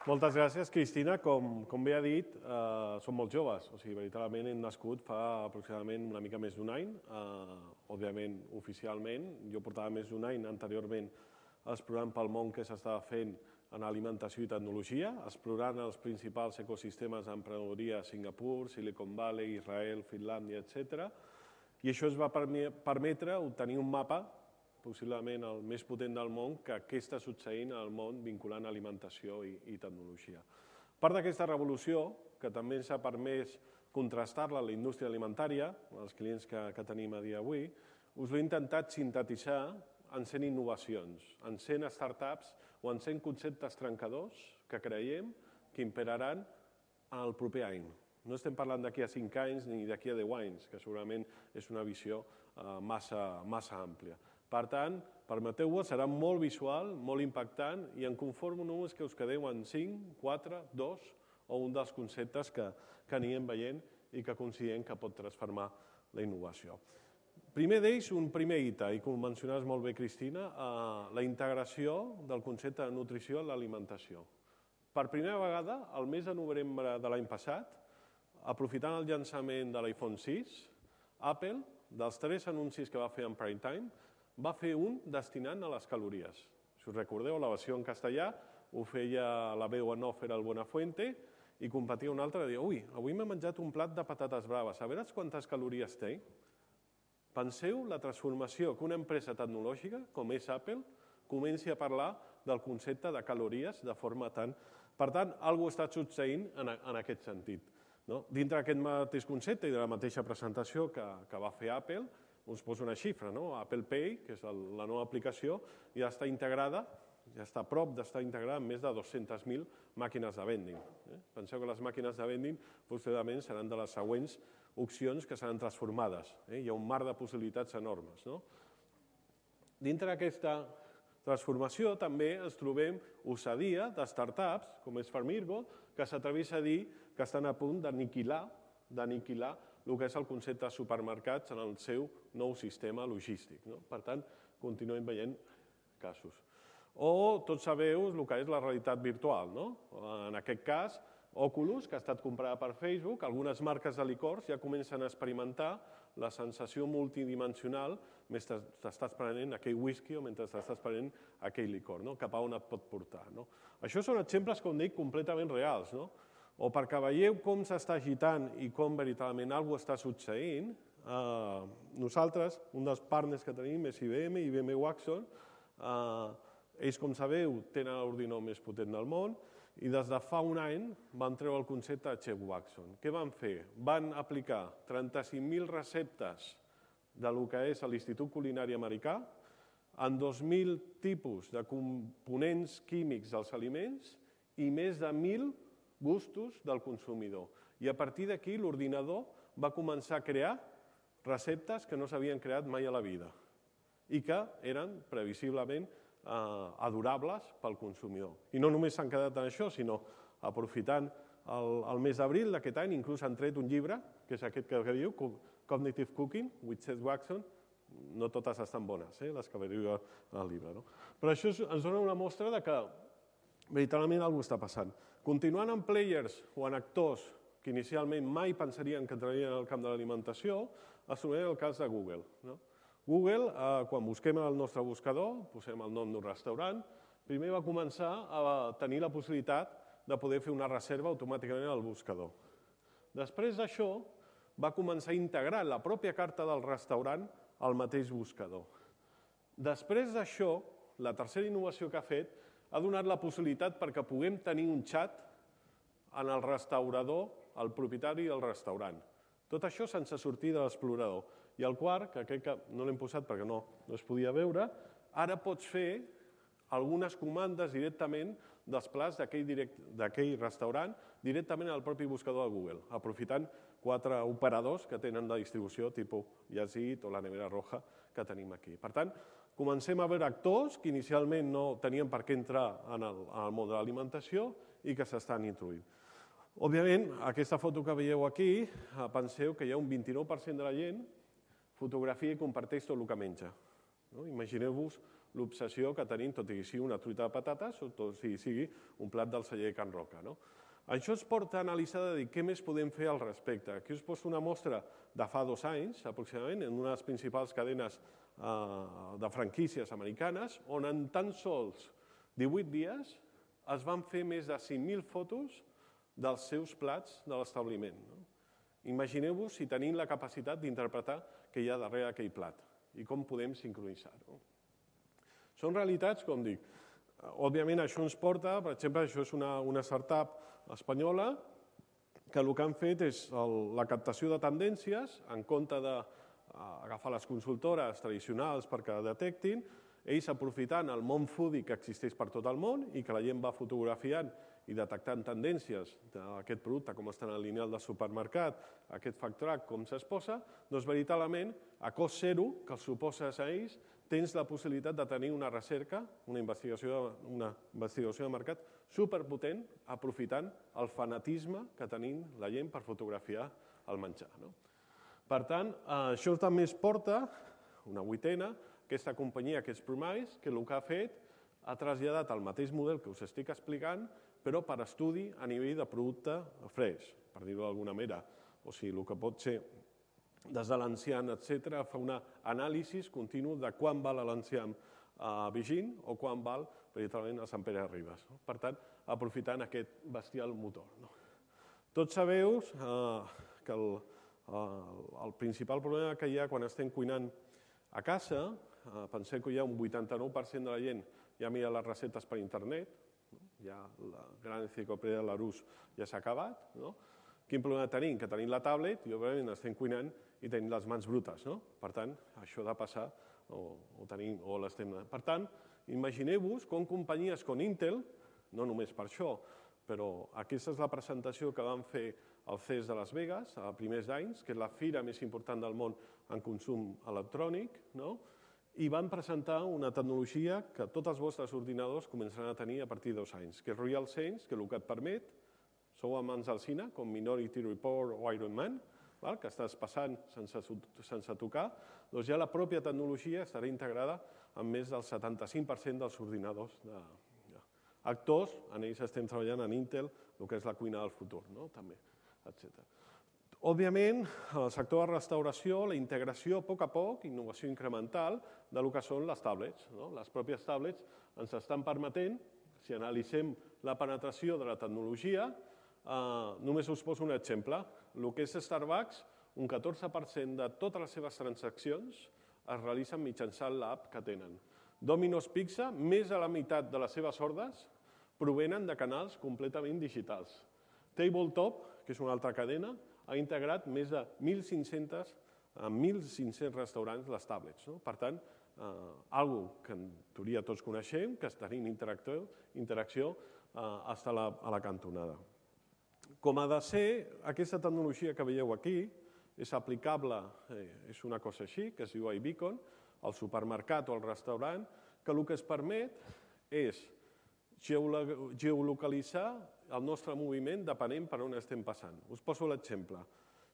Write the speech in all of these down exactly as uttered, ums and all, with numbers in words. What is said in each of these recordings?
Moltes gràcies, Cristina. Com, com bé ha dit, eh, som molt joves. O sigui, veritablement hem nascut fa aproximadament una mica més d'un any. Eh, òbviament, oficialment, jo portava més d'un any anteriorment explorant pel món que s'estava fent en alimentació i tecnologia, explorant els principals ecosistemes d'emprenedoria a Singapur, Silicon Valley, Israel, Finlàndia, etcètera. I això ens va permetre obtenir un mapa, possiblement el més potent del món, que què està succeint al món vinculant alimentació i, i tecnologia. Part d'aquesta revolució, que també ens ha permès contrastar-la a la indústria alimentària, els clients que, que tenim a dia d'avui, us l'he intentat sintetitzar en cent innovacions, en cent startups o en cent conceptes trencadors que creiem que imperaran el proper any. No estem parlant d'aquí a cinc anys ni d'aquí a deu anys, que segurament és una visió eh, massa, massa àmplia. Per tant, permeteu-ho, serà molt visual, molt impactant, i em conformo només que us quedeu en cinc, quatre, dos o un dels conceptes que, que anirem veient i que considerem que pot transformar la innovació. Primer d'ells, un primer hita, i com mencionaves molt bé, Cristina, eh, la integració del concepte de nutrició en l'alimentació. Per primera vegada, el mes de novembre de l'any passat, aprofitant el llançament de l'iPhone sis, Apple, dels tres anuncis que va fer en prime time, va fer un destinant a les calories. Si us recordeu, la versió en castellà ho feia la veu en off, era el Buenafuente, i competia un altre i deia, ui, avui m'he menjat un plat de patates braves, a veure quantes calories té? Penseu la transformació que una empresa tecnològica, com és Apple, comenci a parlar del concepte de calories de forma tan... Per tant, alguna cosa està succeint en, en aquest sentit. No? Dintre d'aquest mateix concepte i de la mateixa presentació que, que va fer Apple, us poso una xifra, no? Apple Pay, que és el, la nova aplicació, ja està integrada, ja està a prop d'estar integrada en més de dues-centes mil màquines de vending. Eh? Penseu que les màquines de vending possiblement seran de les següents opcions que seran transformades. Eh? Hi ha un mar de possibilitats enormes. No? Dintre d'aquesta transformació també ens trobem ossadia de startups, com és Farmirgo, que s'atreveix a dir que estan a punt d'aniquilar d'aniquilar el que és el concepte de supermercats en el seu nou sistema logístic. No? Per tant, continuem veient casos. O tots sabeu el que és la realitat virtual. No? En aquest cas, Oculus, que ha estat comprada per Facebook, algunes marques de licors ja comencen a experimentar la sensació multidimensional mentre t'estàs prenent aquell whisky o mentre t'estàs prenent aquell licor, no? Cap a on et pot portar. No? Això són exemples, com dic, completament reals. No? O perquè veieu com s'està agitant i com veritablement alguna cosa està succeint, eh, nosaltres, un dels partners que tenim és I B M, I B M Watson, eh, ells, com sabeu, tenen l'ordinador més potent del món, i des de fa un any van treure el concepte de Chef Watson. Què van fer? Van aplicar trenta-cinc mil receptes del que és l'Institut Culinari Americà en dos mil tipus de components químics dels aliments i més de mil gustos del consumidor. I a partir d'aquí l'ordinador va començar a crear receptes que no s'havien creat mai a la vida i que eren previsiblement adorables pel consumidor. I no només s'han quedat en això, sinó aprofitant el mes d'abril d'aquest any, inclús han tret un llibre, que és aquest que diu Cognitive Cooking, with Chef Watson. No totes estan bones, les que veieu al llibre. Però això ens dona una mostra que veritablement alguna cosa està passant. Continuant amb players o en actors que inicialment mai pensarien que entrarien al camp de l'alimentació, es trobem el cas de Google. Google, quan busquem el nostre buscador, posem el nom d'un restaurant, primer va començar a tenir la possibilitat de poder fer una reserva automàticament al buscador. Després d'això, va començar a integrar la pròpia carta del restaurant al mateix buscador. Després d'això, la tercera innovació que ha fet ha donat la possibilitat perquè puguem tenir un xat en el restaurador, el propietari del restaurant. Tot això sense sortir de l'explorador. I el quart, que crec que no l'hem posat perquè no es podia veure, ara pots fer algunes comandes directament dels plats d'aquell restaurant directament al propi buscador de Google, aprofitant quatre operadors que tenen de distribució tipus Yazid o la Nevera Roja que tenim aquí. Per tant, comencem a veure actors que inicialment no tenien per què entrar en el món de l'alimentació i que s'estan introduint. Òbviament, aquesta foto que veieu aquí, penseu que hi ha un vint-i-nou per cent de la gent fotografia i comparteix tot el que menja. Imagineu-vos l'obsessió que tenim, tot i que sigui una truita de patates o tot i sigui un plat del celler de Can Roca. Això ens porta a analitzar de dir què més podem fer al respecte. Aquí us poso una mostra de fa dos anys, aproximadament, en una de les principals cadenes de franquícies americanes, on en tan sols divuit dies es van fer més de cinc mil fotos dels seus plats de l'establiment. Imagineu-vos si tenim la capacitat d'interpretar què hi ha darrere d'aquell plat i com podem sincronitzar-ho. Són realitats, com dic. Òbviament, això ens porta, per exemple, això és una startup espanyola que el que han fet és la captació de tendències, en compte d'agafar les consultores tradicionals perquè detectin, ells aprofitant el món foodie que existeix per tot el món i que la gent va fotografiant i detectant tendències d'aquest producte, com està en el lineal del supermercat, aquest fact track, com s'exposa, doncs veritablement, a cost zero, que els suposes a ells, tens la possibilitat de tenir una recerca, una investigació de mercat superpotent, aprofitant el fanatisme que tenim la gent per fotografiar el menjar. Per tant, això també es porta, una vuitena, aquesta companyia que és Promise, que el que ha fet ha traslladat el mateix model que us estic explicant, però per estudi a nivell de producte fresc, per dir-ho d'alguna manera. O sigui, el que pot ser des de l'enciam, etcètera, fa un anàlisi continu de quan val l'enciam a Vigín o quan val, veritablement, a Sant Pere de Ribes. Per tant, aprofitant aquest bestial motor. Tots sabeu que el principal problema que hi ha quan estem cuinant a casa, penseu que hi ha un vuitanta-nou per cent de la gent ja mira les receptes per internet, ja la gran enciclopèdia de Larousse ja s'ha acabat. Quin problema tenim? Que tenim la tablet i, òbviament, estem cuinant i tenim les mans brutes. Per tant, això ha de passar o l'estem... Per tant, imagineu-vos com companyies com Intel, no només per això, però aquesta és la presentació que van fer al C E S de Las Vegas a primers d'anys, que és la fira més important del món en consum electrònic, i van presentar una tecnologia que tots els vostres ordinadors començaran a tenir a partir de dos anys, que és RealSense, que el que et permet, sou amants del cine, com Minority Report o Iron Man, que estàs passant sense tocar, doncs ja la pròpia tecnologia estarà integrada en més del setanta-cinc per cent dels ordinadors. Actors, en ells estem treballant en Intel, el que és la cuina del futur, també, etcètera. Òbviament, en el sector de restauració, la integració a poc a poc, innovació incremental, del que són les tablets. Les pròpies tablets ens estan permetent, si analitzem la penetració de la tecnologia, només us poso un exemple. El que és Starbucks, un catorze per cent de totes les seves transaccions es realitzen mitjançant l'app que tenen. Domino's Pizza, més de la meitat de les seves ordres provenen de canals completament digitals. Tabletop, que és una altra cadena, ha integrat més de mil cinc-cents restaurants les tablets. Per tant, una cosa que en teoria tots coneixem, que tenim interacció fins a la cantonada. Com ha de ser, aquesta tecnologia que veieu aquí és aplicable, és una cosa així, que es diu iBeacon, al supermercat o al restaurant, que el que es permet és geolocalitzar el nostre moviment depenent per on estem passant. Us poso l'exemple.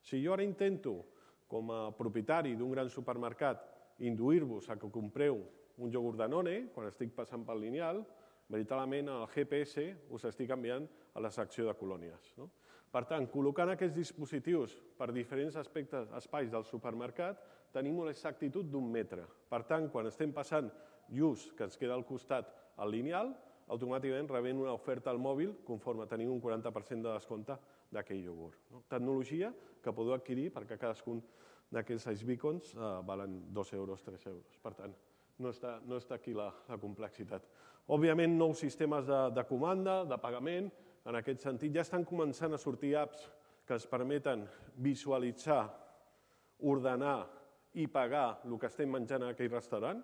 Si jo ara intento, com a propietari d'un gran supermercat, induir-vos a que compreu un iogurt Danone, quan estic passant pel lineal, veritablement el G P S us estic enviant a la secció de colònies. Per tant, col·locant aquests dispositius per diferents aspectes, espais del supermercat, tenim una exactitud d'un metre. Per tant, quan estem passant just que ens queda al costat el lineal, automàticament rebem una oferta al mòbil conforme tenim un quaranta per cent de descompte d'aquell iogurt. Tecnologia que podeu adquirir perquè cadascun d'aquests iBeacons valen dos euros, tres euros. Per tant, no està aquí la complexitat. Òbviament, nous sistemes de comanda, de pagament, en aquest sentit ja estan començant a sortir apps que ens permeten visualitzar, ordenar i pagar el que estem menjant en aquell restaurant,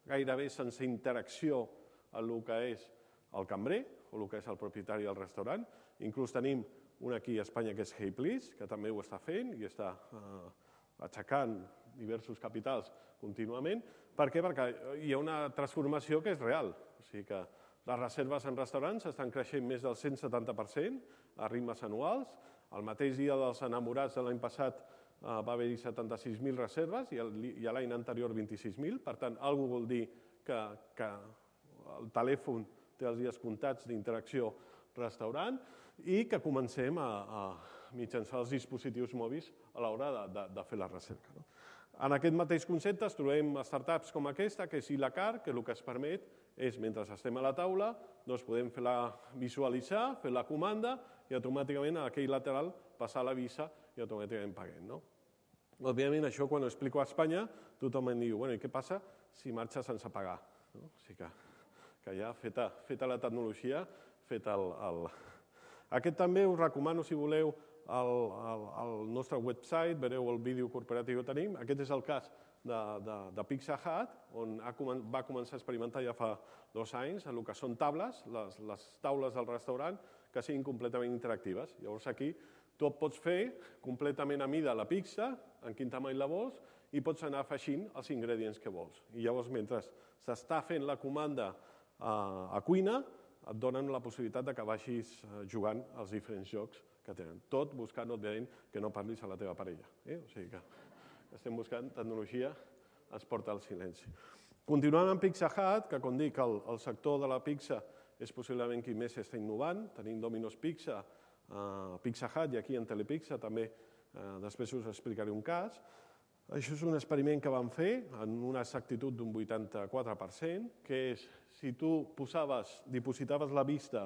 gairebé sense interacció amb el que és el cambrer o el que és el propietari del restaurant. Inclús tenim un aquí a Espanya que és Hey Please, que també ho està fent i està aixecant diversos capitals contínuament. Per què? Perquè hi ha una transformació que és real. O sigui que les reserves en restaurants estan creixent més del cent setanta per cent a ritmes anuals. El mateix dia dels enamorats de l'any passat va haver-hi setanta-sis mil reserves i l'any anterior vint-i-sis mil. Per tant, alguna cosa vol dir que el telèfon té els dies comptats d'interacció restaurant i que comencem a mitjançar els dispositius mòbils a l'hora de fer la recerca. En aquest mateix concepte es trobem startups com aquesta, que és Ilacar, que el que es permet és, mentre estem a la taula, podem fer-la visualitzar, fer la comanda i automàticament a aquell lateral passar la visa i automàticament paguem. Òbviament, això quan ho explico a Espanya, tothom em diu, bueno, i què passa si marxa sense pagar? O sigui que ja feta la tecnologia, fet el... Aquest també us recomano, si voleu, al nostre website, veureu el vídeo corporatiu que tenim. Aquest és el cas de Pizza Hut, on va començar a experimentar ja fa dos anys el que són taules, les taules del restaurant, que siguin completament interactives. Llavors aquí tu et pots fer completament a mida la pizza, en quin tamany la vols, i pots anar afegint els ingredients que vols. I llavors, mentre s'està fent la comanda a cuina, et donen la possibilitat que vagis jugant als diferents jocs que tenen. Tot buscant, òbviament, que no parlis a la teva parella. O sigui que estem buscant tecnologia, es porta al silenci. Continuant amb Pizza Hut, que com dic, el sector de la pizza és possiblement qui més està innovant. Tenim Domino's Pizza, Pizza Hut i aquí en Telepizza també després us explicaré un cas. Això és un experiment que vam fer en una exactitud d'un vuitanta-quatre per cent, que és si tu posaves, dipositaves la vista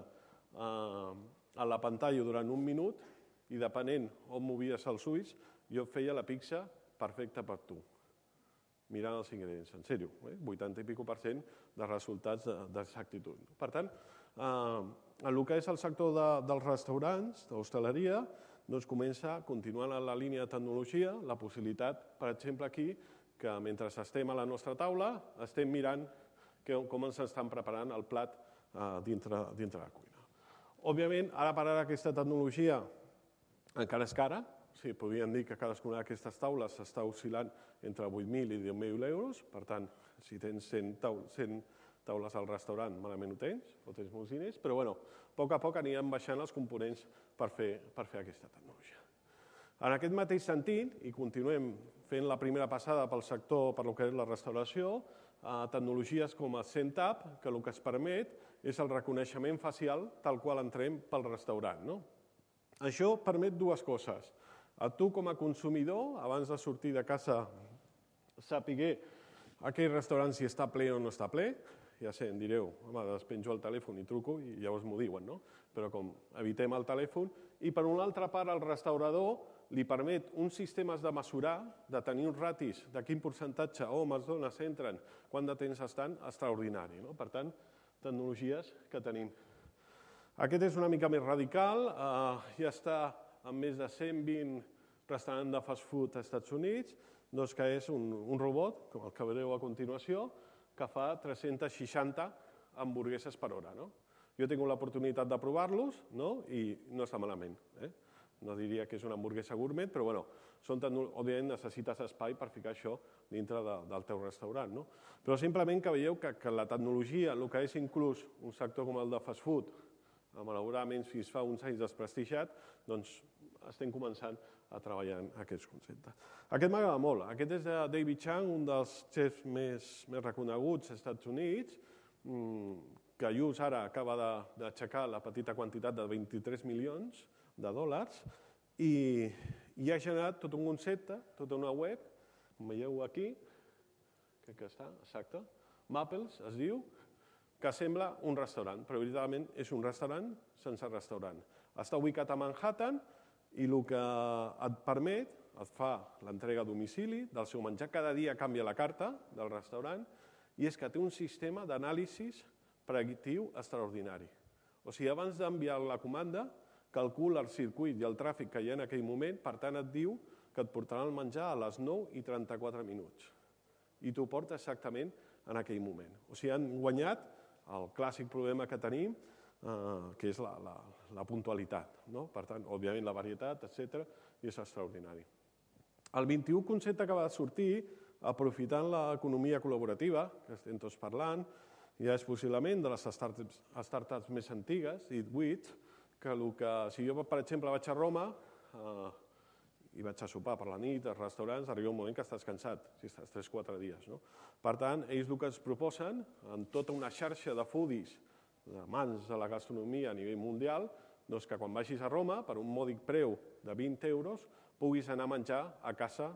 a la pantalla durant un minut i depenent on movies els ulls, jo feia la pizza perfecta per tu, mirant els ingredients. En sèrio, vuitanta i pico per cent de resultats d'exactitud. Per tant, en el que és el sector dels restaurants, d'hostaleria, doncs comença, continuant en la línia de tecnologia, la possibilitat, per exemple aquí, que mentre estem a la nostra taula, estem mirant com ens estan preparant el plat dintre la cuina. Òbviament, ara per ara aquesta tecnologia encara és cara, podríem dir que cadascuna d'aquestes taules s'està oscil·lant entre vuit mil i deu mil euros, per tant, si tens cent taules al restaurant, malament ho tens, o tens molts diners, però a poc a poc anirem baixant els components per fer aquesta tecnologia. En aquest mateix sentit, i continuem fent la primera passada pel sector, per lo que és la restauració, tecnologies com el SendTap, que el que es permet és el reconeixement facial tal qual entrem pel restaurant. Això permet dues coses. A tu com a consumidor, abans de sortir de casa, sàpiguer aquell restaurant si està ple o no està ple. Ja sé, em direu, home, despenjo el telèfon i truco i llavors m'ho diuen, no? Però com evitem el telèfon. I per una altra part, el restaurador li permet uns sistemes de mesurar, de tenir uns ratis de quin percentatge homes, dones entren, quant de temps estan, extraordinari. Per tant, tecnologies que tenim. Aquest és una mica més radical, ja està en més de cent vint restaurants de fast food als Estats Units, que és un robot, com el que veureu a continuació, que fa tres-centes seixanta hamburgueses per hora. Jo he tingut l'oportunitat de provar-los i no està malament. No diria que és una hamburguesa gourmet, però òbviament necessites espai per ficar això dintre del teu restaurant. Però simplement que veieu que la tecnologia, el que és inclús un sector com el de fast food, malauradament fins fa uns anys desprestigiat, doncs estem començant a treballar en aquests conceptes. Aquest m'agrada molt. Aquest és de David Chang, un dels xefs més reconeguts als Estats Units, que just ara acaba d'aixecar la petita quantitat de vint-i-tres milions de dòlars i ha generat tot un concepte, tota una web, com veieu aquí, crec que està, exacte, Maples es diu, que sembla un restaurant, però veritablement és un restaurant sense restaurant. Està ubicat a Manhattan i el que et permet, et fa l'entrega a domicili del seu menjar, cada dia canvia la carta del restaurant i és que té un sistema d'anàlisi predictiu extraordinari. O sigui, abans d'enviar la comanda, calcula el circuit i el tràfic que hi ha en aquell moment, per tant et diu que et portarà el menjar a les nou i trenta-quatre minuts. I t'ho porta exactament en aquell moment. O sigui, han guanyat el clàssic problema que tenim, que és la puntualitat. Per tant, òbviament, la varietat, etcètera, i és extraordinari. El vint-i-u concepte que va sortir, aprofitant l'economia col·laborativa, que estem tots parlant, ja és possiblement de les startups més antigues, Eat With, que si jo, per exemple, vaig a Roma i vaig a sopar per la nit, als restaurants, arriba un moment que estàs cansat, si estàs tres o quatre dies. No? Per tant, ells el que ens proposen, en tota una xarxa de foodies, de mans de la gastronomia a nivell mundial, doncs que quan vagis a Roma, per un mòdic preu de vint euros, puguis anar a menjar a casa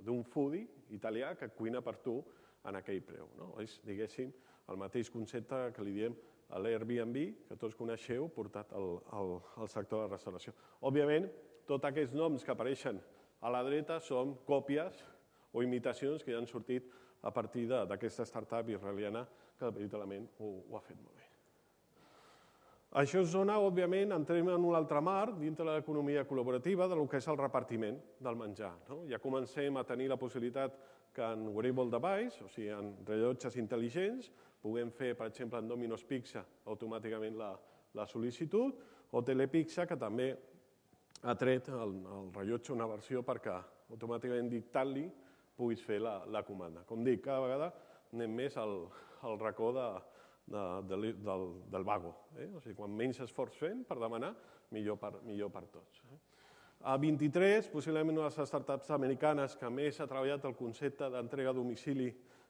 d'un foodie italià que cuina per tu en aquell preu. No? És, diguéssim, el mateix concepte que li diem a l'Airbnb, que tots coneixeu, portat al, al, al sector de la restauració. Òbviament, tots aquests noms que apareixen a la dreta són còpies o imitacions que ja han sortit a partir d'aquesta startup israeliana que veritablement ho, ho ha fet molt bé. Això es dona, òbviament, entrem en un altre marc dintre de l'economia col·laborativa del que és el repartiment del menjar. No? Ja comencem a tenir la possibilitat que en wearable device, o sigui, en rellotges intel·ligents, puguem fer, per exemple, en Domino's Pizza, automàticament la, la sol·licitud, o Telepizza, que també ha tret el, el rellotge una versió perquè automàticament dictant-li puguis fer la, la comanda. Com dic, cada vegada anem més al, al racó de, de, de, del, del vago. Eh? O sigui, quan menys esforç fem per demanar, millor per, millor per tots. Eh? A vint-i-tres, possiblement una de les startups americanes que més ha treballat el concepte d'entrega a domicili,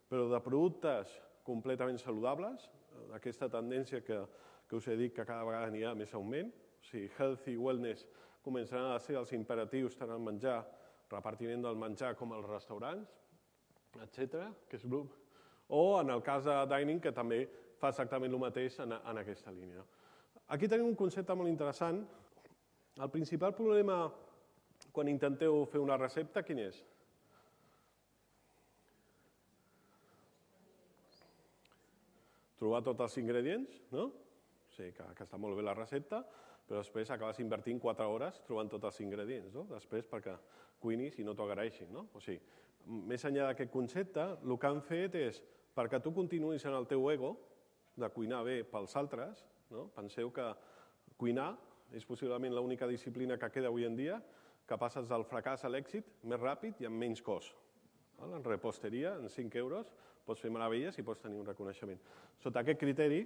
però de productes completament saludables, aquesta tendència que, que us he dit que cada vegada n'hi ha més augment, o sigui, healthy wellness començaran a ser els imperatius tant al menjar, repartiment del menjar com als restaurants, etcètera, que és Bloom, o en el cas de dining, que també fa exactament el mateix en, en aquesta línia. Aquí tenim un concepte molt interessant. El principal problema quan intenteu fer una recepta, quin és? Trobar tots els ingredients, no? O sigui, que, que està molt bé la recepta, però després acabes invertint quatre hores trobant tots els ingredients, no? Després perquè cuinis i no t'ho agraeixin, no? O sigui, més enllà d'aquest concepte, el que han fet és, perquè tu continuïs en el teu ego, de cuinar bé pels altres, no? Penseu que cuinar és possiblement l'única disciplina que queda avui en dia que passes del fracàs a l'èxit més ràpid i amb menys cost. En reposteria, en cinc euros, pots fer meravelles i pots tenir un reconeixement. Sota aquest criteri,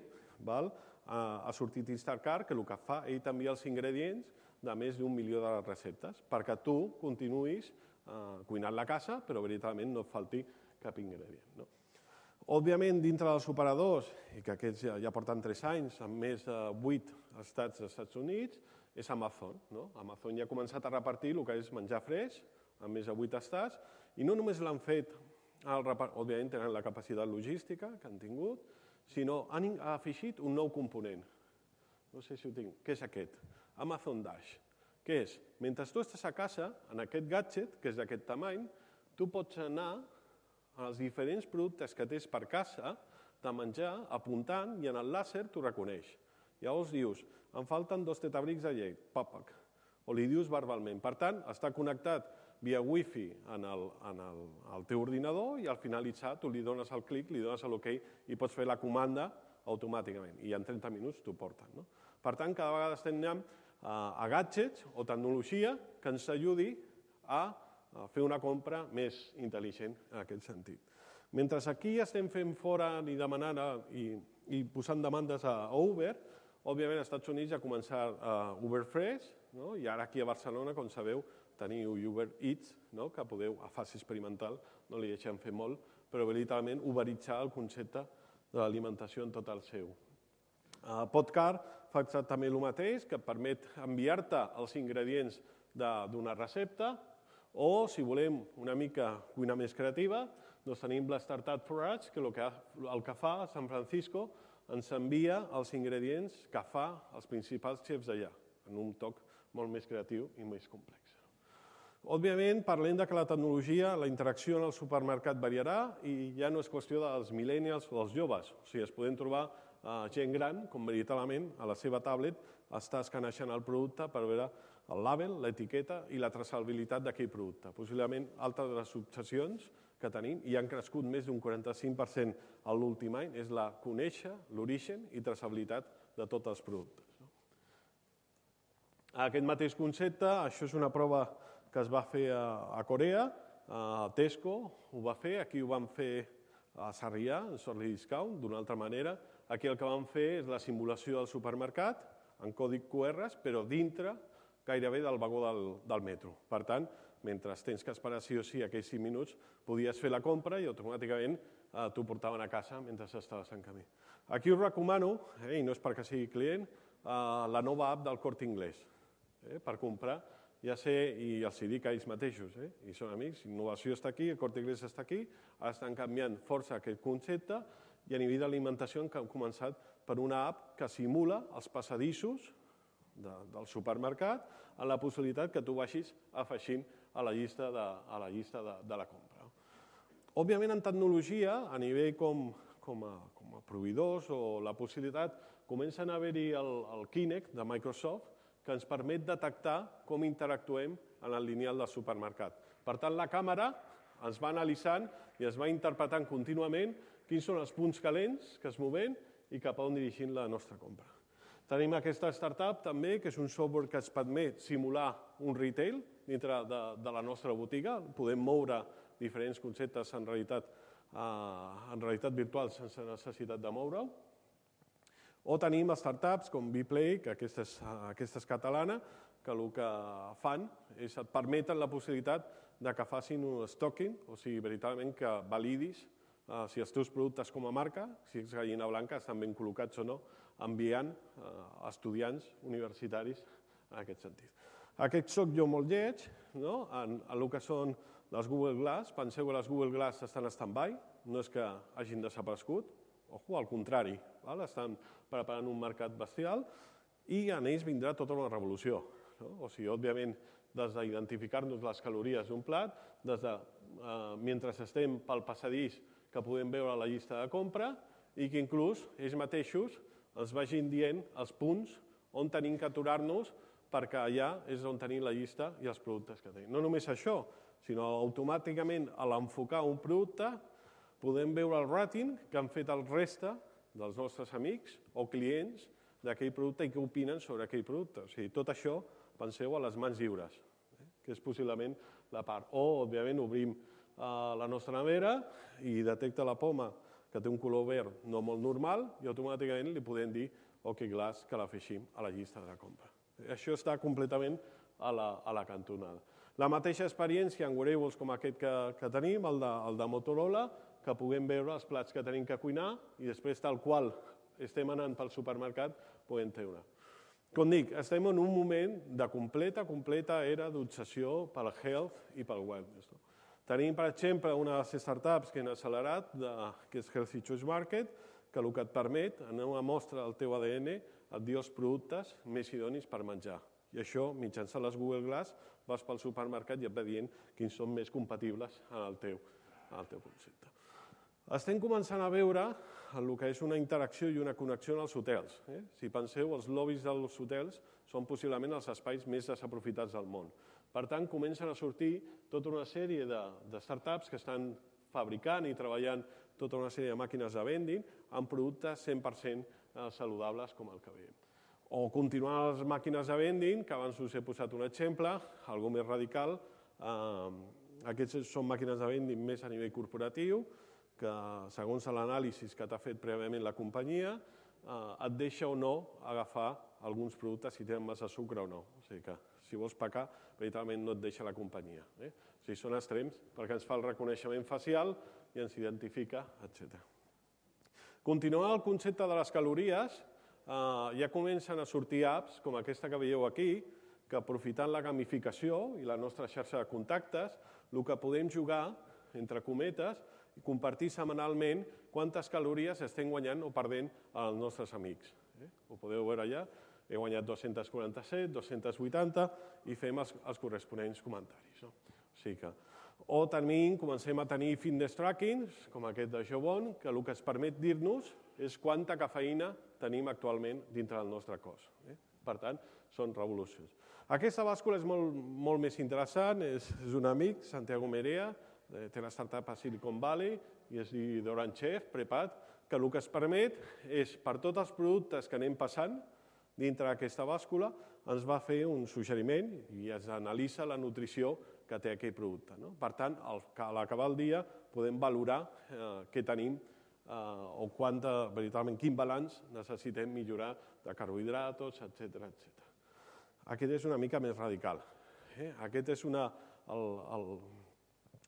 ha sortit Instacart, que el que fa, ell t'envia els ingredients de més d'un milió de receptes, perquè tu continuïs cuinant la casa, però veritablement no et falti cap ingredient. Òbviament, dintre dels operadors, i que aquests ja porten tres anys, amb més de vuit estats dels Estats Units, és Amazon. Amazon ja ha començat a repartir el que és menjar fresc, amb més de vuit estats, i no només l'han fet, òbviament tenen la capacitat logística que han tingut, sinó han afegit un nou component. No sé si ho tinc. Què és aquest? Amazon Dash. Què és? Mentre tu estàs a casa, en aquest gadget, que és d'aquest tamany, tu pots anar als diferents productes que tens per casa de menjar, apuntant, i en el làser t'ho reconeix. Llavors dius, em falten dos tetabrics de llet, papac, o li dius verbalment. Per tant, està connectat via wifi en el, en el, el teu ordinador i al finalitzar tu li dones el clic, li dones l'ok i pots fer la comanda automàticament i en trenta minuts t'ho porten. No? Per tant, cada vegada estem anant a, a gadgets o tecnologia que ens ajudi a, a fer una compra més intel·ligent en aquest sentit. Mentre aquí estem fent fora i demanant a, i, i posant demandes a, a Uber, òbviament als Estats Units ja ha començat uh, Uber Fresh, no? I ara aquí a Barcelona, com sabeu, teniu Uber Eats, no? Que podeu, a fase experimental, no li deixem fer molt, però veritablement uberitzar el concepte de l'alimentació en tot el seu. Uh, Podcar fa exactament el mateix, que permet enviar-te els ingredients d'una recepta, o, si volem una mica cuina més creativa, doncs tenim la Startup Forage, que el que, el que fa a San Francisco ens envia els ingredients que fa els principals xefs d'allà, en un toc molt més creatiu i més complex. Òbviament, parlem que la tecnologia, la interacció en el supermercat variarà i ja no és qüestió dels millennials o dels joves. O sigui, es podem trobar gent gran, com veritablement a la seva tablet està escanejant el producte per veure el label, l'etiqueta i la traçabilitat d'aquell producte. Possiblement, altres de les obsessions que tenim, i han crescut més d'un quaranta-cinc per cent en l'últim any, és la conèixer l'origen i traçabilitat de tots els productes. Aquest mateix concepte, això és una prova que es va fer a Corea, a Tesco ho va fer, aquí ho van fer a Sarrià, en Sorli Discount, d'una altra manera. Aquí el que van fer és la simulació del supermercat, en codi Q R, però dintre gairebé del vagó del, del metro. Per tant, mentre tens que esperar sí o sí aquells cinc minuts, podies fer la compra i automàticament eh, t'ho portaven a casa mentre estaves en camí. Aquí us recomano, eh, i no és perquè sigui client, eh, la nova app del Corte Inglés eh, per comprar, ja sé, i els hi dic a ells mateixos, eh, i són amics, innovació està aquí, el Corte Inglés està aquí, ara estan canviant força aquest concepte i a nivell d'alimentació han començat per una app que simula els passadissos de, del supermercat amb la possibilitat que tu vagis afegint a la llista de, a la, llista de, de la compra. Òbviament, en tecnologia, a nivell com, com, a, com a proveïdors o la possibilitat, comencen a haver-hi el, el Kinect de Microsoft que ens permet detectar com interactuem en el lineal del supermercat. Per tant, la càmera ens va analitzant i es va interpretant contínuament quins són els punts calents que es moven i cap a on dirigim la nostra compra. Tenim aquesta startup també, que és un software que ens permet simular un retail dintre de, de la nostra botiga. Podem moure diferents conceptes en realitat, eh, en realitat virtual sense necessitat de moure-ho. O tenim startups com Vplay, que aquesta és, aquesta és catalana, que el que fan és et permeten la possibilitat de que facin un stocking, o sigui, veritablement que validis eh, si els teus productes com a marca, si ets gallina blanca, estan ben col·locats o no, enviant eh, estudiants universitaris en aquest sentit. Aquest soc jo molt lleig, no? en, en el que són les Google Glass. Penseu que les Google Glass estan en stand-by, no és que hagin desaparegut, ojo, al contrari, val? Estan preparant un mercat bestial i en ells vindrà tota una revolució. No? O sigui, òbviament, des d'identificar-nos les calories d'un plat, des de, eh, mentre estem pel passadís que podem veure la llista de compra i que inclús ells mateixos ens vagin dient els punts on tenim que aturar-nos perquè allà és on tenim la llista i els productes que tenim. No només això, sinó automàticament a l'enfocar un producte podem veure el rating que han fet el reste dels nostres amics o clients d'aquell producte i què opinen sobre aquell producte. O sigui, tot això, penseu, a les mans lliures, eh? que és possiblement la part. O, òbviament, obrim eh, la nostra nevera i detecta la poma que té un color verd no molt normal i automàticament li podem dir OK Glass que l'afegim a la llista de la compra. Això està completament a la, a la cantonada. La mateixa experiència en wearables com aquest que, que tenim, el de, el de Motorola, que puguem veure els plats que tenim que cuinar i després, tal qual estem anant pel supermercat, podem treure. Com dic, estem en un moment de completa, completa era d'obsessió pel health i pel wellness. No? Tenim, per exemple, una de les startups que hem accelerat, de, que és Healthy Choice Market, que el que et permet, en una mostra del teu A D N, et diu els productes més idonis per menjar. I això, mitjançant les Google Glass, vas pel supermercat i et va dient quins són més compatibles en el teu, en el teu concepte. Estem començant a veure el que és una interacció i una connexió en els hotels. Eh? Si penseu, els lobbies dels hotels són possiblement els espais més desaprofitats del món. Per tant, comencen a sortir tota una sèrie de, de startups que estan fabricant i treballant tota una sèrie de màquines de vending amb productes cent per cent saludables com el que veiem. O continuar les màquines de vending, que abans us he posat un exemple, algo més radical. Eh, aquestes són màquines de vending més a nivell corporatiu, que segons l'anàlisi que t'ha fet prèviament la companyia, eh, et deixa o no agafar alguns productes si tenen massa sucre o no. O sigui que si vols pecar, veritablement no et deixa la companyia. Eh? O sigui, són extrems perquè ens fa el reconeixement facial i ens identifica, etcètera. Continuant el concepte de les calories, eh, ja comencen a sortir apps com aquesta que veieu aquí, que aprofitant la gamificació i la nostra xarxa de contactes, el que podem jugar, entre cometes, i compartir setmanalment quantes calories estem guanyant o perdent als nostres amics. Eh? Ho podeu veure allà, he guanyat dos-cents quaranta-set, dos-cents vuitanta i fem els, els corresponents comentaris. No? O sigui que... O tenim, comencem a tenir fitness trackings, com aquest de Jobon, que el que ens permet dir-nos és quanta cafeïna tenim actualment dintre del nostre cos. Eh? Per tant, són revolucions. Aquesta bàscula és molt, molt més interessant, és, és un amic, Santiago Merea, té la startup a Silicon Valley i es diu Doran Chef, Prepat, que el que es permet és, per tots els productes que anem passant dintre d'aquesta bàscula, ens va fer un suggeriment i es analitza la nutrició que té aquell producte. No? Per tant, a l'acabar el dia podem valorar eh, què tenim eh, o quanta, veritablement, quin balanç necessitem millorar de carbohidratos, etcètera, etcètera. Aquest és una mica més radical. Eh? Aquest és una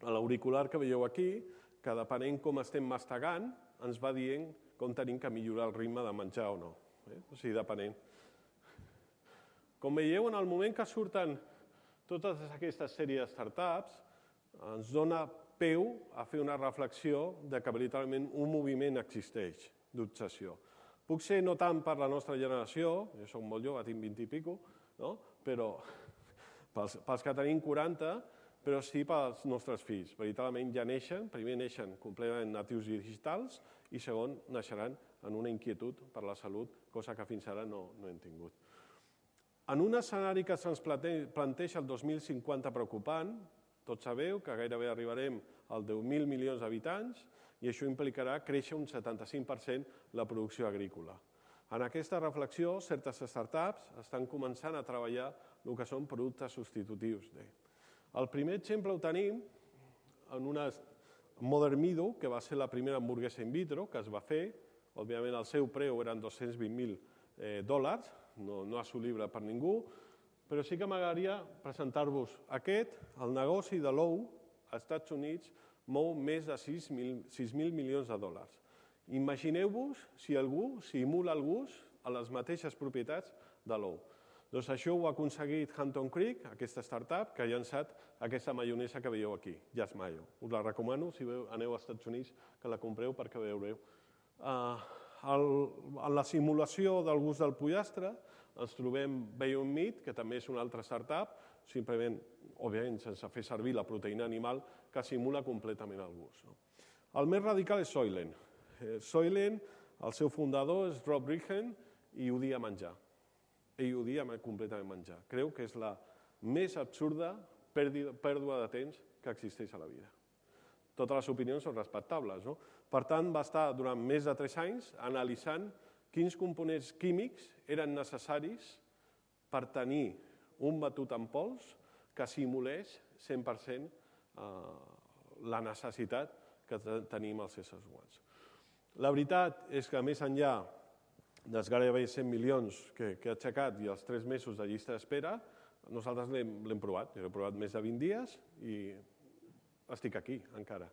l'auricular que veieu aquí, que depenent com estem mastegant, ens va dient com tenim que millorar el ritme de menjar o no. O sigui, depenent. Com veieu, en el moment que surten totes aquestes sèries de startups, ens dona peu a fer una reflexió de que veritablement un moviment existeix d'obsessió. Puc ser no tant per la nostra generació, jo soc molt jove, tinc vint i pico, però pels que tenim quaranta, però sí pels nostres fills. Veritablement ja neixen, primer neixen completament natius digitals i segon, naixeran en una inquietud per la salut, cosa que fins ara no hem tingut. En un escenari que se'ns planteja el dos mil cinquanta preocupant, tots sabeu que gairebé arribarem als deu mil milions d'habitants i això implicarà créixer un setanta-cinc per cent la producció agrícola. En aquesta reflexió, certes startups estan començant a treballar el que són productes substitutius. El primer exemple ho tenim en una Mother Meadow, que va ser la primera hamburguesa in vitro que es va fer. Òbviament, el seu preu eren dos-cents vint mil dòlars, no assolible per ningú, però sí que m'agradaria presentar-vos aquest. El negoci de l'ou als Estats Units mou més de sis mil milions de dòlars. Imagineu-vos si algú simula el gust a les mateixes propietats de l'ou. Doncs això ho ha aconseguit Hampton Creek, aquesta startup, que ha llançat aquesta maionesa que veieu aquí, Just Mayo. Us la recomano, si aneu als Estats Units, que la compreu perquè veureu. En la simulació del gust del pollastre ens trobem Beyond Meat, que també és una altra startup, simplement, òbviament, sense fer servir la proteïna animal, que simula completament el gust. El més radical és Soylent. Soylent, el seu fundador és Rob Riggen i odia menjar. Ell odia completament menjar. Creu que és la més absurda pèrdua de temps que existeix a la vida. Totes les opinions són respectables. Per tant, va estar durant més de tres anys analitzant quins components químics eren necessaris per tenir un batut en pols que simulés cent per cent la necessitat que tenim els éssers humans. La veritat és que, més enllà dels gairebé cent milions que ha aixecat i els tres mesos de llista d'espera, nosaltres l'hem provat. Jo l'he provat més de vint dies i estic aquí, encara.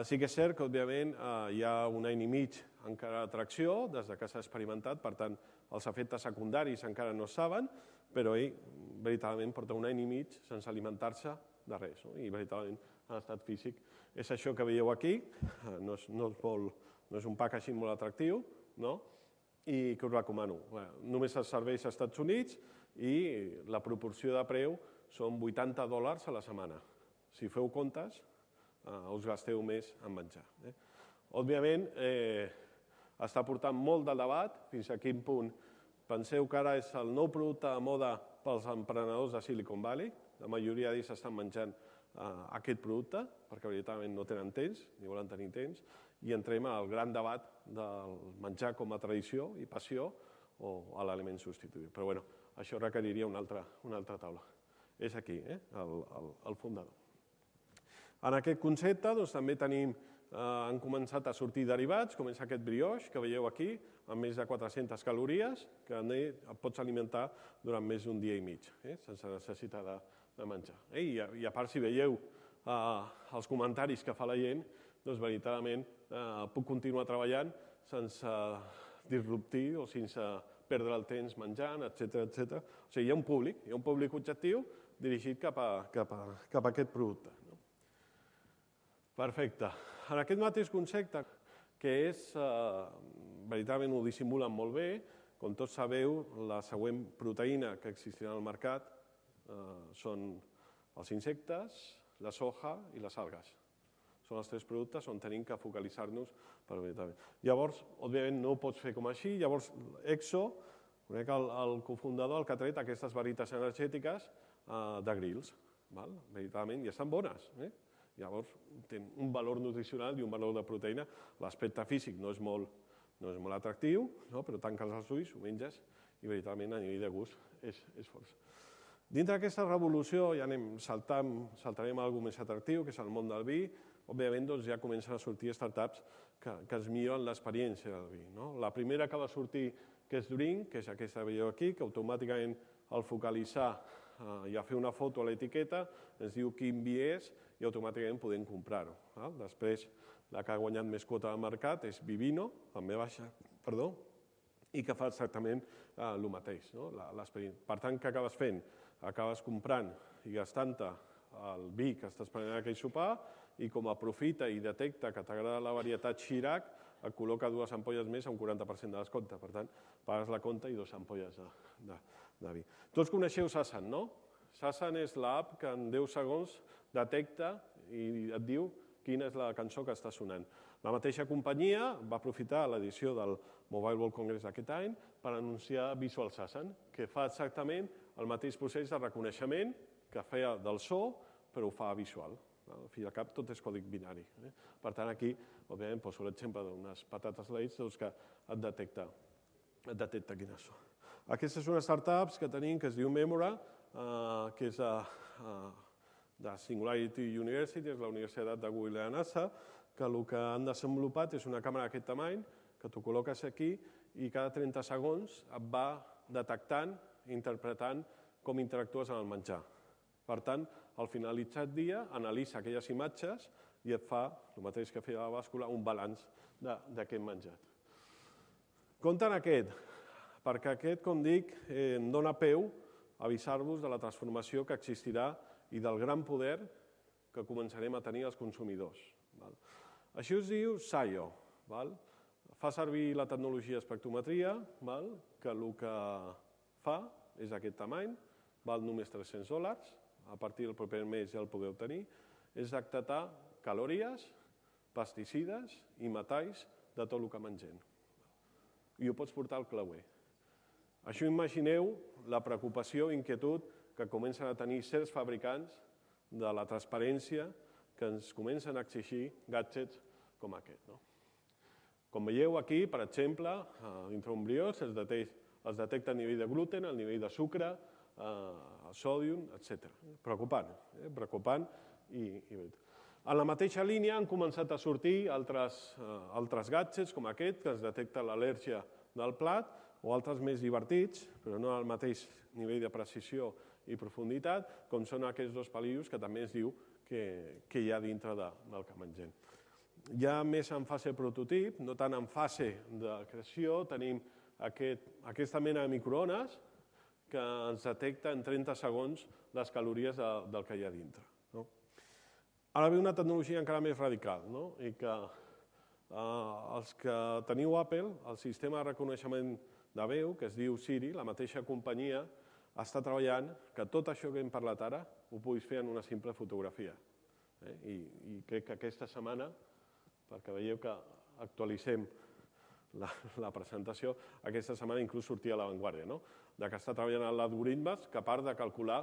Sí que és cert que, òbviament, hi ha un any i mig encara d'atracció des que s'ha experimentat, per tant, els efectes secundaris encara no es saben, però ell, veritablement, porta un any i mig sense alimentar-se de res, i, veritablement, en estat físic. És això que veieu aquí, no és un packaging molt atractiu, i que us recomano. Només es serveix als Estats Units i la proporció de preu són vuitanta dòlars a la setmana. Si feu comptes, us gasteu més en menjar. Òbviament, està portant molt de debat fins a quin punt. Penseu que ara és el nou producte de moda pels emprenedors de Silicon Valley. La majoria d'ells estan menjant aquest producte perquè veritablement no tenen temps, ni volen tenir temps, i entrem al gran debat del menjar com a tradició i passió o a l'element substituït. Però bé, això requeriria una altra taula. És aquí, el fundador. En aquest concepte també tenim, han començat a sortir derivats, com és aquest brioix que veieu aquí, amb més de quatre-centes calories, que et pots alimentar durant més d'un dia i mig, sense necessitat de menjar. I a part, si veieu els comentaris que fa la gent, doncs veritablement puc continuar treballant sense disruptir o sense perdre el temps menjant, etcètera, etcètera. O sigui, hi ha un públic, hi ha un públic objectiu dirigit cap a aquest producte. Perfecte. En aquest mateix concepte, que és, veritablement ho dissimulen molt bé, com tots sabeu, la següent proteïna que existirà al mercat són els insectes, la soja i les algues. Són els tres productes on tenim que focalitzar-nos per veritablement. Llavors, òbviament, no ho pots fer com així. Llavors, Exo, conec el cofundador, el que ha tret aquestes barrites energètiques de Grills. Veritablement, i estan bones. Llavors, tenen un valor nutricional i un valor de proteïna. L'aspecte físic no és molt atractiu, però tanques els ulls, ho menges, i veritablement a nivell de gust és força. Dintre d'aquesta revolució ja anem saltant, saltarem a alguna cosa més atractiu, que és el món del vi. Òbviament, ja comencen a sortir startups que ens milloren l'experiència del vi. La primera que va sortir, que és Drink, que és aquesta que veieu aquí, que automàticament al focalitzar ja fer una foto a l'etiqueta, ens diu quin vi és i automàticament podem comprar-ho. Després, la que ha guanyat més quota de mercat és Vivino, també baixa, perdó, i que fa exactament el mateix. Per tant, què acabes fent? Acabes comprant i gastant-te el vi que estàs prenent aquell sopar i com aprofita i detecta que t'agrada la varietat Chirac, et col·loca dues ampolles més a un quaranta per cent de descompte. Per tant, pagues la compta i dues ampolles de vi. Tots coneixeu Sasan, no? Sasan és l'app que en deu segons detecta i et diu quina és la cançó que està sonant. La mateixa companyia va aprofitar l'edició del Mobile World Congress d'aquest any per anunciar Visual Sasan, que fa exactament el mateix procés de reconeixement que feia del so, però ho fa visual. Al fi i al cap tot és codi binari. Per tant, aquí, òbviament, poso l'exemple d'unes patates Lay's que et detecta quines són. Aquesta és una startup que tenim que es diu Memora, que és de Singularity University, és la Universitat de Google i la NASA, que el que han desenvolupat és una càmera d'aquest tamany, que tu col·loques aquí i cada trenta segons et va detectant, interpretant com interactues amb el menjar. Per tant, al finalitzar el dia, analitza aquelles imatges i et fa, el mateix que feia la bàscula, un balanç d'aquest menjat. Compte en aquest, perquè aquest, com dic, em dona peu a avisar-vos de la transformació que existirà i del gran poder que començarem a tenir els consumidors. Això es diu Saio. Fa servir la tecnologia espectrometria, que el que fa és aquest tamany, val només tres-cents dòlars, a partir del proper mes ja el podeu tenir, és detectar calories, pesticides i metalls de tot el que mengem. I ho pots portar al clauer. Això imagineu la preocupació i inquietud que comencen a tenir certs fabricants de la transparència que ens comencen a exigir gadgets com aquest. Com veieu aquí, per exemple, dintre un brioix es detecta el nivell de gluten, el nivell de sucre, el sòdium, etcètera. Preocupant, preocupant. En la mateixa línia han començat a sortir altres gadgets com aquest, que ens detecta l'al·lèrgia del plat, o altres més divertits, però no al mateix nivell de precisió i profunditat, com són aquests dos palillos que també ens diu que hi ha dintre del que mengem. Ja més en fase prototip, no tant en fase de creació, tenim aquesta mena de microones que ens detecta en trenta segons les calories del que hi ha dintre. Ara ve una tecnologia encara més radical, i que els que teniu Apple, el sistema de reconeixement de veu, que es diu Siri, la mateixa companyia, està treballant que tot això que hem parlat ara ho puguis fer en una simple fotografia. I crec que aquesta setmana, perquè veieu que actualitzem la presentació, aquesta setmana inclús sortia a l'avantguàrdia, que està treballant en l'algoritmes capaç de calcular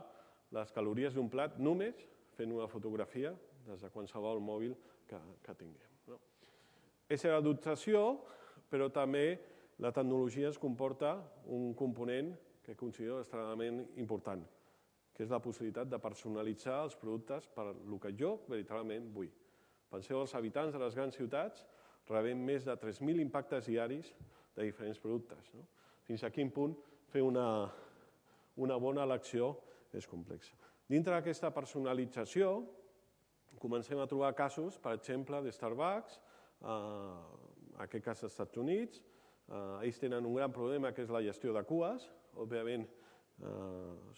les calories d'un plat només fent una fotografia des de qualsevol mòbil que tinguem. És la d'obsessió, però també la tecnologia ens comporta un component que considero extremadament important, que és la possibilitat de personalitzar els productes per el que jo veritablement vull. Penseu, els habitants de les grans ciutats rebem més de tres mil impactes diaris de diferents productes. Fins a quin punt fer una bona elecció és complex. Dintre d'aquesta personalització comencem a trobar casos, per exemple, de Starbucks, en aquest cas als Estats Units. Ells tenen un gran problema que és la gestió de cues. Òbviament,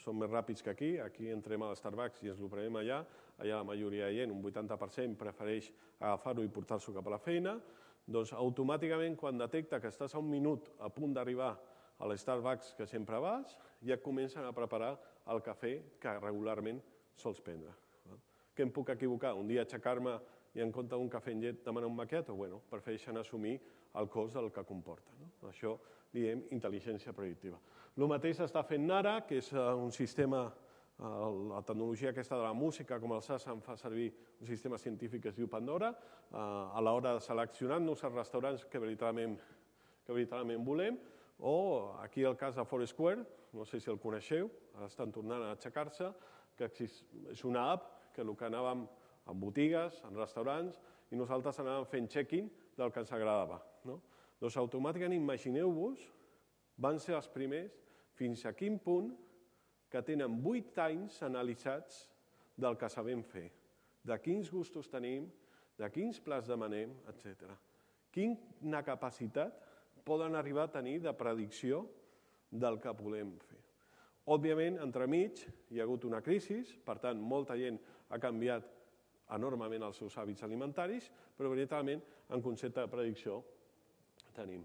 són més ràpids que aquí. Aquí entrem a l'Starbucks i ens ho prenem allà. Allà la majoria de gent, un vuitanta per cent, prefereix agafar-ho i portar-s'ho cap a la feina. Doncs automàticament, quan detecta que estàs a un minut a punt d'arribar a l'Starbucks que sempre vas, ja comencen a preparar el cafè que regularment sols prendre. Què em puc equivocar? Un dia aixecar-me i en compte d'un cafè amb llet demanar un macchiato? Bueno, prefereixen assumir el cost del que comporta. Això diem intel·ligència predictiva. El mateix s'està fent ara, que és un sistema, la tecnologia aquesta de la música, com el Sasan fa servir un sistema científic que es diu Pandora, a l'hora de seleccionar-nos els restaurants que veritablement volem, o aquí el cas de Foursquare, no sé si el coneixeu, ara estan tornant a aixecar-se, que és una app que el que anàvem en botigues, en restaurants, i nosaltres anàvem fent check-in del que ens agradava. Doncs automàticament, imagineu-vos, van ser els primers fins a quin punt que tenen vuit anys analitzats del que sabem fer, de quins gustos tenim, de quins plats demanem, etcètera. Quina capacitat poden arribar a tenir de predicció del que volem fer. Òbviament, entremig, hi ha hagut una crisi, per tant, molta gent ha canviat enormement els seus hàbits alimentaris, però veritablement, en concepte de predicció, tenim.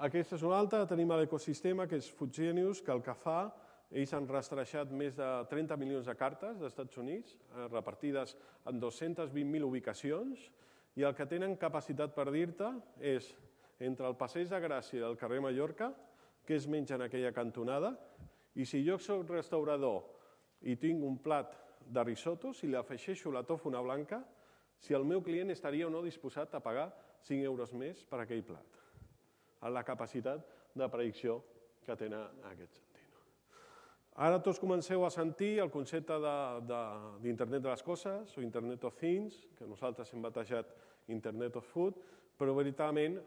Aquesta és una altra, tenim l'ecosistema, que és Food Genius, que el que fa, ells han rastrejat més de trenta milions de cartes dels Estats Units, repartides en dos-centes vint mil ubicacions, i el que tenen capacitat per dir-te és entre el Passeig de Gràcia i el carrer Mallorca, què es menja en aquella cantonada, i si jo soc restaurador i tinc un plat de risotto, si li afegeixo la tòfona blanca, si el meu client estaria o no disposat a pagar cinc euros més per aquell plat. La capacitat de predicció que tenen en aquest sentit. Ara tots comenceu a sentir el concepte d'Internet de les Coses o Internet of Things, que nosaltres hem batejat Internet of Food, però veritablement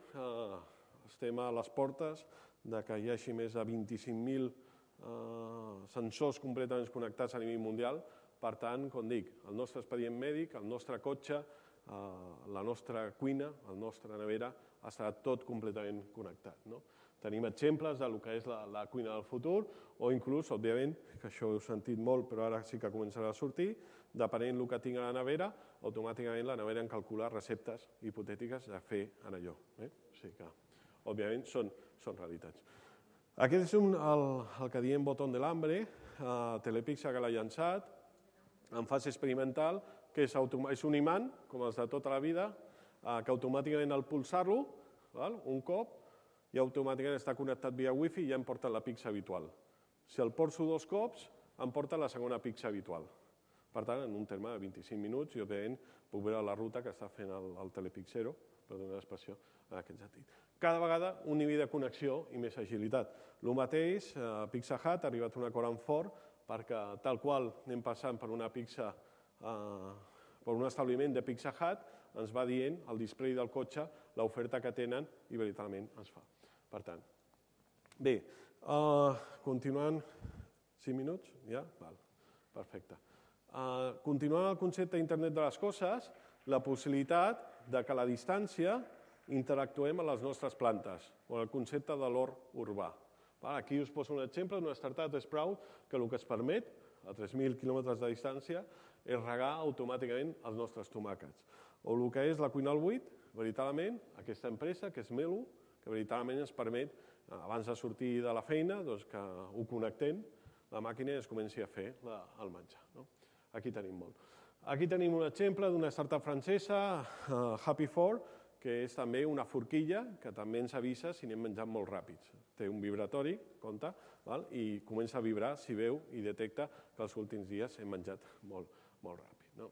estem a les portes que hi hagi més de vint-i-cinc mil sensors completament connectats a nivell mundial. Per tant, com dic, el nostre expedient mèdic, el nostre cotxe, la nostra cuina, la nostra nevera, estarà tot completament connectat. Tenim exemples del que és la cuina del futur o inclús, òbviament, que això ho heu sentit molt, però ara sí que començarà a sortir, depenent del que tinc a la nevera, automàticament la nevera en calcula receptes hipotètiques de fer en allò. O sigui que, òbviament, són realitats. Aquest és el que diem botó de l'hambre, Telepizza que l'ha llançat, en fase experimental, que és un imant, com els de tota la vida, que automàticament al pulsar-lo, un cop, i automàticament està connectat via wifi i ja em porta la pizza habitual. Si el porto dos cops, em porta la segona pizza habitual. Per tant, en un terme de vint-i-cinc minuts, i òbviament puc veure la ruta que està fent el telepizzero, per donar l'expressió en aquest sentit. Cada vegada un nivell de connexió i més agilitat. El mateix, Pizza Hut ha arribat a un acord amb Ford perquè tal qual anem passant per una pizza, per un establiment de Pizza Hut, ens va dient al display del cotxe l'oferta que tenen i veritablement es fa. Per tant, bé, continuant, cinc minuts? Ja? Perfecte. Continuant el concepte d'internet de les coses, la possibilitat que a la distància interactuem amb les nostres plantes, o el concepte de l'hort urbà. Aquí us poso un exemple d'una startup Sprout que el que es permet, a tres mil quilòmetres de distància, és regar automàticament els nostres tomàquets. O el que és la cuina al buit, veritablement, aquesta empresa, que és Melo, que veritablement ens permet, abans de sortir de la feina, que ho connectem, la màquina es comenci a fer el menjar. Aquí tenim molt. Aquí tenim un exemple d'una startup francesa, Happy Four, que és també una forquilla que també ens avisa si anem menjant molt ràpids. Té un vibratori, compte, i comença a vibrar si veu i detecta que els últims dies hem menjat molt ràpid.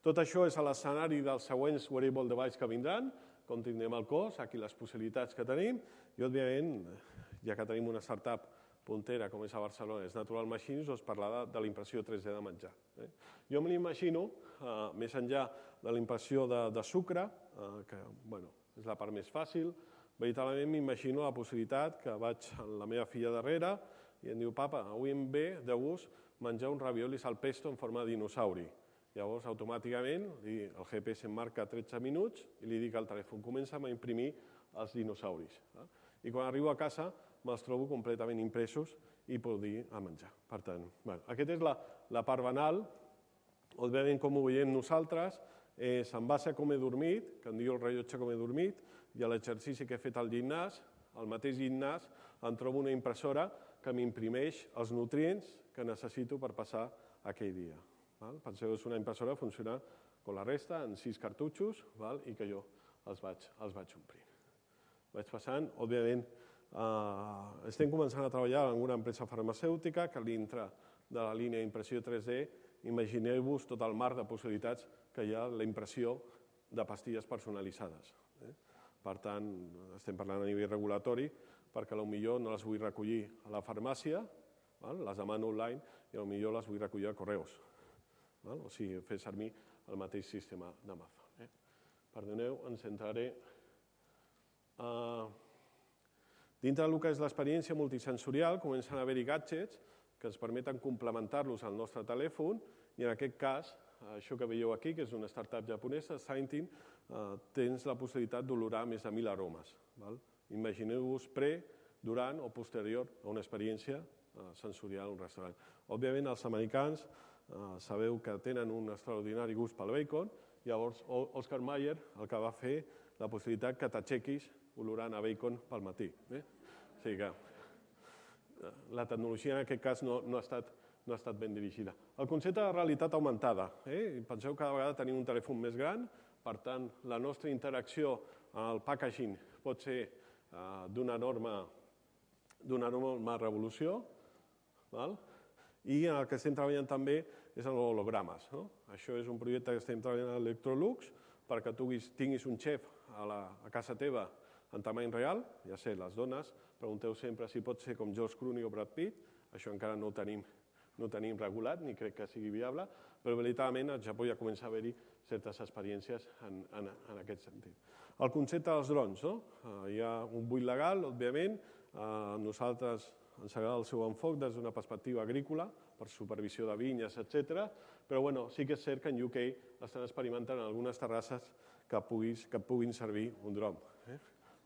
Tot això és a l'escenari dels següents wearable device que vindran, com tindrem el cos, aquí les possibilitats que tenim, i òbviament, ja que tenim una startup puntera com és a Barcelona, és Natural Machines, us parlarà de la impressió tres D de menjar. Jo me l'imagino, més enllà de la impressió de sucre, que és la part més fàcil, veritablement m'imagino la possibilitat que vaig amb la meva filla darrere i em diu, papa, avui em ve de gust menjar un raviolis al pesto en forma de dinosauri. Llavors, automàticament, el G P S em marca tretze minuts i li dic al telèfon, comença a imprimir els dinosauris. I quan arribo a casa me'ls trobo completament impresos i puc dir a menjar. Per tant, aquesta és la part banal. Òbviament, com ho veiem nosaltres, és en base a com he dormit, que em diu el rellotge com he dormit, i a l'exercici que he fet al gimnàs, al mateix gimnàs, em trobo una impressora que m'imprimeix els nutrients que necessito per passar aquell dia. Penseu, és una impressora que funciona com la resta, en sis cartutxos, i que jo els vaig omplint. Vaig passant, òbviament, estem començant a treballar en una empresa farmacèutica que dintre de la línia d'impressió tres D, imagineu-vos tot el mar de possibilitats que hi ha la impressió de pastilles personalitzades. Per tant, estem parlant a nivell regulatori, perquè potser no les vull recollir a la farmàcia, les demano online, i potser les vull recollir a correus. O sigui, fer servir el mateix sistema d'Amazon. Perdoneu, ens centraré. Dintre del que és l'experiència multisensorial, comencen a haver-hi gadgets que ens permeten complementar-los al nostre telèfon i en aquest cas, això que veieu aquí, que és una startup japonesa, Scientin, tens la possibilitat d'olorar més de mil aromes. Imagineu-vos pre, durant o posterior a una experiència sensorial a un restaurant. Òbviament, els americans sabeu que tenen un extraordinari gust pel bacon, llavors Oscar Mayer el que va fer la possibilitat que t'aixequis olorant a bacon pel matí. O sigui que la tecnologia en aquest cas no ha estat ben dirigida. El concepte de realitat augmentada. Penseu que cada vegada tenim un telèfon més gran, per tant, la nostra interacció amb el packaging pot ser d'una enorme revolució, i el que estem treballant també és en hologrames. Això és un projecte que estem treballant a Electrolux perquè tu tinguis un xef a casa teva en tamany real, ja sé, les dones, pregunteu sempre si pot ser com George Clooney o Brad Pitt, això encara no ho tenim regulat ni crec que sigui viable, però veritablement al Japó ja comença a haver-hi certes experiències en aquest sentit. El concepte dels drons, hi ha un buit legal, òbviament, a nosaltres ens agrada el seu enfoc des d'una perspectiva agrícola, per supervisió de vinyes, etcètera, però sí que és cert que en U K estan experimentant en algunes terrasses que puguin servir un dron.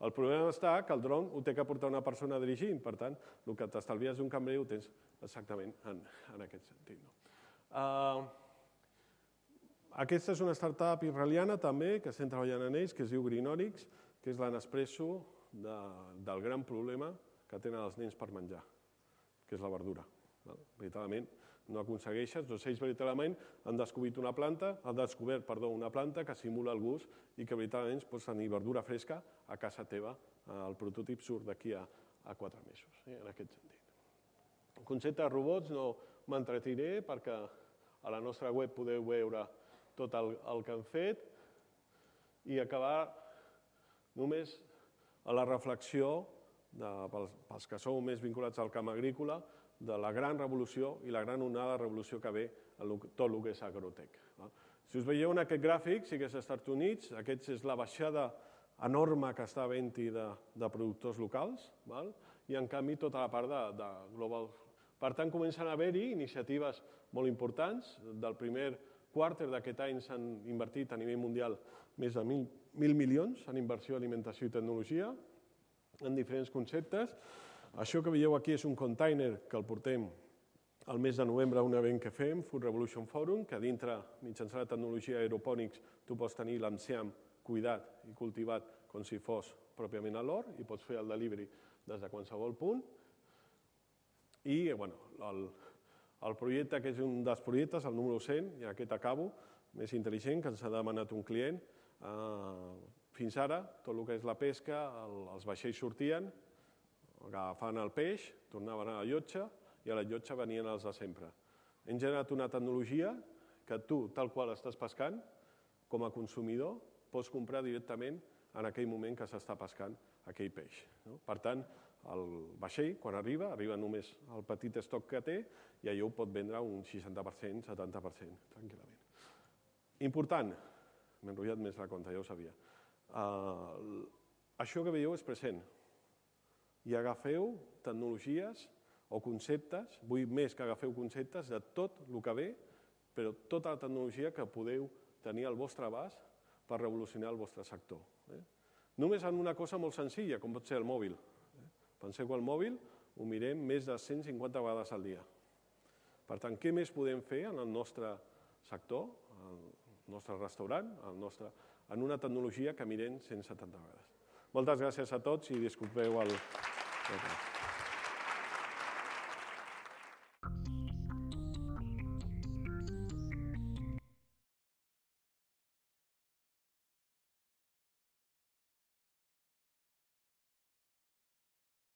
El problema està que el dron ho té que portar una persona dirigint, per tant, el que t'estalvies d'un cambrer ho tens exactament en aquest sentit. Aquesta és una startup israeliana també, que estem treballant en ells, que es diu Greenorix, que és la Nespresso del gran problema que tenen els nens per menjar, que és la verdura. Veritablement no aconsegueixes, doncs ells veritablement han descobert una planta, han descobert, perdó, una planta que simula el gust i que veritablement pots tenir verdura fresca a casa teva. El prototip surt d'aquí a quatre mesos, en aquest sentit. El concepte de robots no m'entretiré perquè a la nostra web podeu veure tot el que han fet i acabar només a la reflexió, pels que sou més vinculats al camp agrícola, de la gran revolució i la gran onada de revolució que ve a tot el que és agrotec. Si us veieu en aquest gràfic, sí que és als Estats Units, aquesta és la baixada enorme que està havent-hi de productors locals, i en canvi tota la part de global. Per tant, comencen a haver-hi iniciatives molt importants. Del primer quarter d'aquest any s'han invertit a nivell mundial més de mil milions en inversió, alimentació i tecnologia, en diferents conceptes. Això que veieu aquí és un container que el portem el mes de novembre a un event que fem, Food Revolution Forum, que dintre, mitjançant la tecnologia aeropònics, tu pots tenir l'enciam cuidat i cultivat com si fos pròpiament a l'hort i pots fer el delivery des de qualsevol punt. I el projecte, que és un dels projectes, el número cent, i aquest acabo, més intel·ligent, que ens ha demanat un client. Fins ara, tot el que és la pesca, els vaixells sortien, agafaven el peix, tornaven a la llotja i a la llotja venien els de sempre. Hem generat una tecnologia que tu, tal qual estàs pescant, com a consumidor, pots comprar directament en aquell moment que s'està pescant aquell peix. Per tant, el vaixell, quan arriba, arriba només el petit estoc que té i allò ho pot vendre un seixanta per cent, setanta per cent, tranquil·lament. Important, m'he enrotllat més la compte, ja ho sabia. Això que veieu és present. I agafeu tecnologies o conceptes, vull més que agafeu conceptes de tot el que ve, però tota la tecnologia que podeu tenir al vostre abast per revolucionar el vostre sector. Només en una cosa molt senzilla, com pot ser el mòbil. Penseu que el mòbil ho mirem més de cent cinquanta vegades al dia. Per tant, què més podem fer en el nostre sector, en el nostre restaurant, en una tecnologia que mirem cent setanta vegades? Moltes gràcies a tots i disculpeu el...